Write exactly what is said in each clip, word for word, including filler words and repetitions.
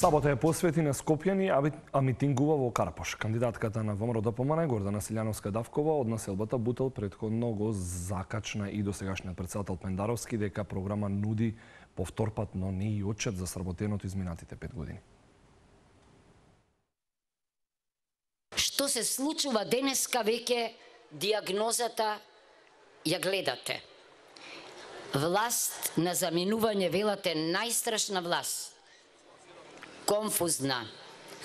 Сабота е посвети на Скопјани, а митингува во Карпош. Кандидатката на ВМРО ДПМН Гордана Силјановска-Давкова од населбата Бутел претходно го закачна и досегашниот претседател Пендаровски дека програма нуди повторпат, но не и отчет за сработеното изминатите пет години. Што се случува денеска, веќе диагнозата ја гледате. Власт на заминување, велате, најстрашна власт. Конфузна,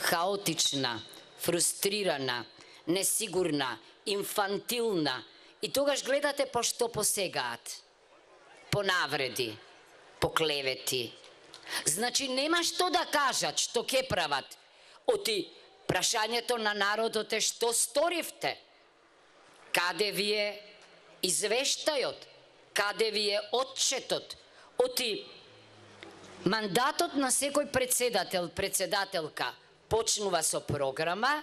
хаотична, фрустрирана, несигурна, инфантилна. И тогаш гледате по што посегаат. По навреди, по клевети. Значи нема што да кажат, што ке прават. Оти прашањето на народот е што сторивте? Каде ви е извештајот? Каде ви е отчетот? Оти мандатот на секој председател, председателка почнува со програма,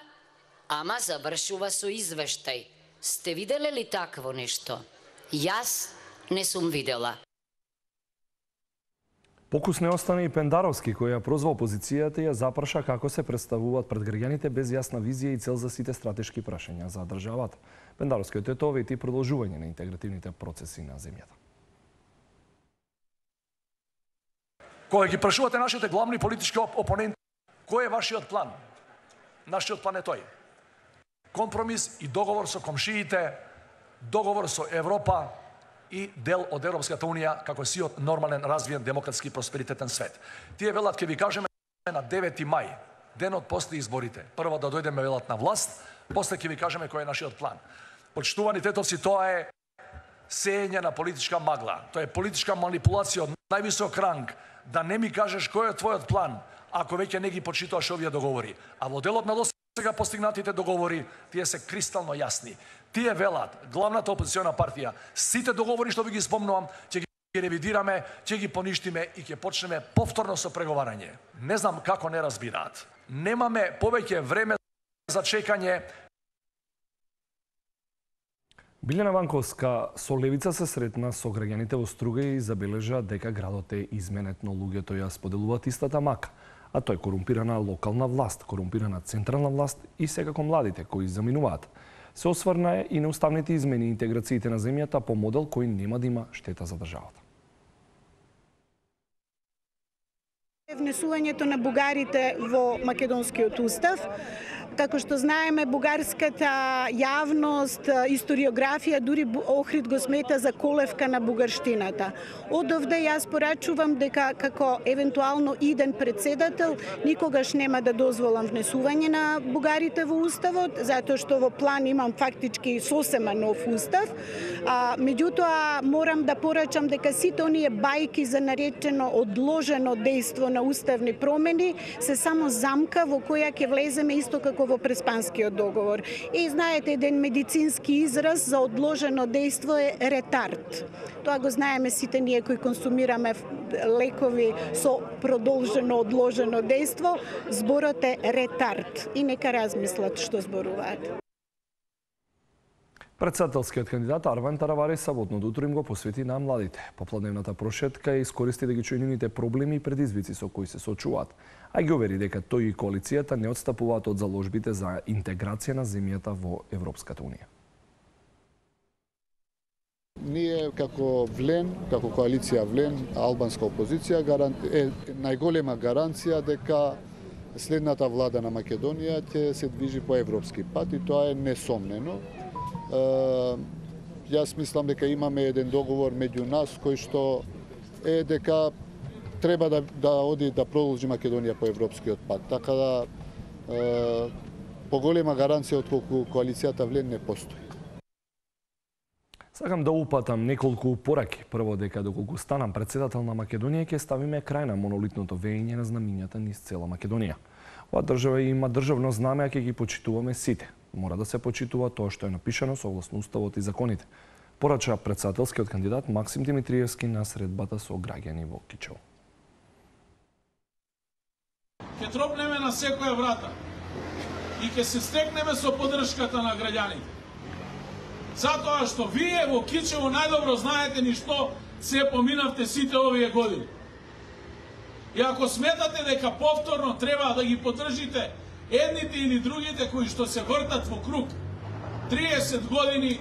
ама завршува со извештај. Сте виделе ли такво нешто? Јас не сум видела. Покус не остане и Пендаровски, кој ја прозва опозицијата и ја запраша како се представуваат пред граѓаните без јасна визија и цел за сите стратешки прашања за државата. Пендаровски ответовети продолжување на интегративните процеси на земјата. Кога ги прашувате нашите главни политички опоненти, кој е вашиот план? Нашиот план е тој. Компромис и договор со комшиите, договор со Европа и дел од Европската Унија како сиот нормален, развиен, демократски, просперитетен свет. Тие велат, ке ви кажеме на девети мај, денот после изборите. Прво да дојдеме, велат, на власт, после ќе ви кажеме кој е нашиот план. Почитувани тетовци, тоа е сеење на политичка магла. Тоа е политичка манипулација од највисок ранг, да не ми кажеш кој е твојот план, ако веќе не ги почитуваш овие договори. А во делот на досега постигнатите договори, тие се кристално јасни. Тие велат, главната опозициона партија, сите договори што ви ги спомнувам, ќе ги ревидираме, ќе ги поништиме и ќе почнеме повторно со преговарање. Не знам како не разбираат. Немаме повеќе време за чекање. Билјана Ванковска со левица се сретна со граѓаните во Струга и забележа дека градот е изменет, но луѓето ја споделуваат истата мака. А тој корумпирана локална власт, корумпирана централна власт и секако младите кои заминуваат. Се осврна и на уставните измени и интеграциите на земјата по модел кој нема да има штета за државата. Внесувањето на бугарите во македонскиот устав. Како што знаеме, бугарската јавност, историографија, дури Охрид го смета за колевка на бугарштината. Од овде јас порачувам дека како евентуално иден председател никогаш нема да дозволам внесување на бугарите во уставот, затоа што во план имам фактички сосема нов устав. А, меѓутоа, морам да порачам дека сите оние бајки за наречено одложено дејство на уставни промени се само замка во која ќе влеземе исто како во Преспанскиот договор. И знаете, еден медицински израз за одложено дејство е ретард. Тоа го знаеме сите ние кои консумираме лекови со продолжено одложено дејство. Зборот е ретард. И нека размислат што зборуваат. Председателскиот кандидат Арван Таравари саботното утро им го посвети на младите. Попладневната прошетка ја искористи да ги чуе нивните проблеми и предизвици со кои се соочуваат, а ги увери дека тој и коалицијата не отстапуваат од заложбите за интеграција на земјата во Европската Унија. Ние како Влен, како коалиција Влен, албанска опозиција, е најголема гаранција дека следната влада на Македонија ќе се движи по европски пат и тоа е несомнено. Јас мислам дека имаме еден договор меѓу нас кој што е дека треба да, да оди да продолжи Македонија по европскиот пат. Така да е, поголема гаранција од колку коалицијата Влен не постои. Сакам да упатам неколку пораки. Прво, дека доколку станам председател на Македонија, ќе ставиме крај на монолитното веење на знамињата низ цела Македонија. Ова држава има државно знаме, а ќе ги почитуваме сите. Мора да се почитува тоа што е напишано согласно уставот и законите. Порача председателскиот кандидат Максим Димитриевски на средбата со граѓани во Кичево. Ќе тропнеме на секоја врата и ќе се стекнеме со поддршката на граѓаните. Затоа што вие во Кичево најдобро знаете ни што се поминавте сите овие години. И ако сметате дека повторно треба да ги поддржите едните или другите кои што се вртат во круг триесет години,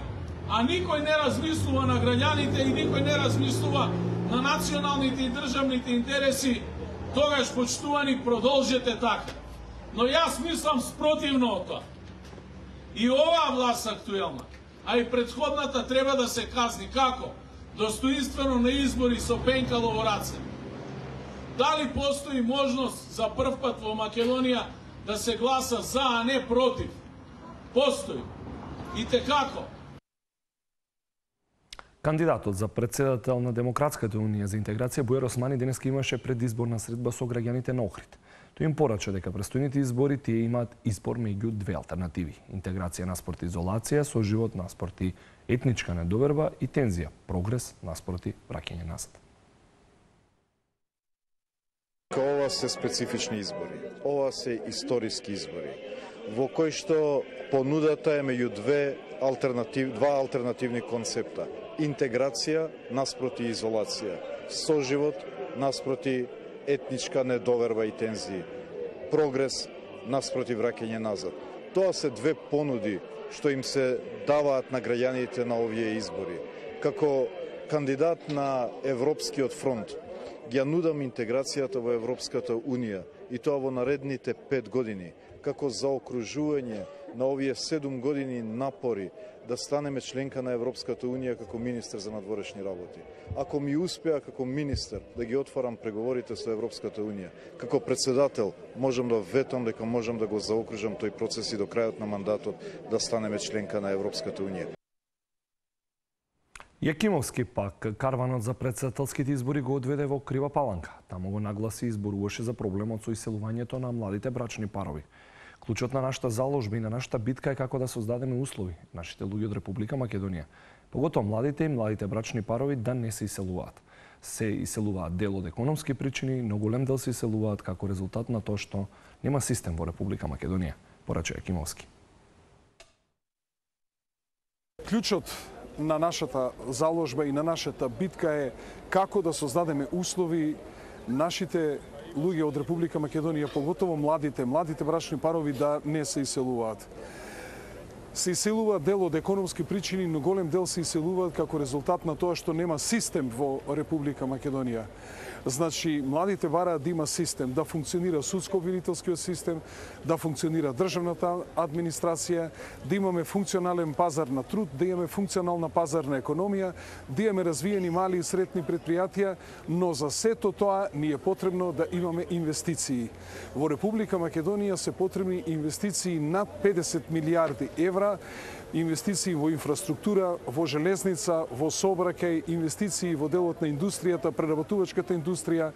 а никој не размислува на граѓаните и никој не размислува на националните и државните интереси, тогаш, почитувани, продолжете така. Но јас мислам спротивно од тоа. И оваа власт актуелна, а и претходната треба да се казни како? Достоинствено на избори со пенкало во раце. Дали постои можност за прв пат во Македонија да се гласа за, а не против? Постои. И те како? Кандидатот за председател на Демократската унија за интеграција Бујар Османи денеска имаше предизборна средба со граѓаните на Охрид. Тој им порача дека престојните избори тие имаат избор меѓу две алтернативи: интеграција наспроти изолација, соживот наспроти етничка недоверба и тензија, прогрес наспроти враќање назад. Ова се специфични избори. Ова се историски избори, во кои што понудата е меѓу две алтернатив, два алтернативни концепта: интеграција наспроти изолација, соживот наспроти етничка недоверба и тензии, прогрес наспроти враќање назад. Тоа се две понуди што им се даваат на граѓаните на овие избори. Како кандидат на Европскиот фронт, ја нудам интеграцијата во Европската Унија и тоа во наредните пет години, како заокружување на овие седум години напори да станеме членка на Европската Унија како министер за надворешни работи. Ако ми успеа како министер да ги отварам преговорите со Европската Унија, како председател можам да ветам дека можам да го заокружам тој процес и до крајот на мандатот да станеме членка на Европската Унија. Јакимовски пак карванот за председателските избори го одведе во Крива Паланка. Таму го нагласи и зборуваше за проблемот со иселувањето на младите брачни парови. Клучот на нашата заложба и на нашата битка е како да создадеме услови нашите луѓе од Република Македонија, поготоа младите и младите брачни парови, да не се иселуваат. Се иселуваат дел од економски причини, но голем дел се иселуваат како резултат на тоа што нема систем во Република Македонија, порача Јакимовски. Клучот на нашата заложба и на нашата битка е како да создадеме услови нашите луѓе од Република Македонија, поготово младите, младите брачни парови да не се иселуваат. Се иселуваат дел од економски причини, но голем дел се иселуваат како резултат на тоа што нема систем во Република Македонија. Значи, младите бараат да има систем, да функционира судско-обвинителскиот систем, да функционира државната администрација, да имаме функционален пазар на труд, да имаме функционална пазарна економија, да имаме развиени мали и средни предпријатија, но за сето тоа ни е потребно да имаме инвестиции. Во Република Македонија се потребни инвестиции над педесет милијарди евра, инвестиции во инфраструктура, во железница, во сообраќај, инвестиции во делот на индустријата, преработувачката индустрија,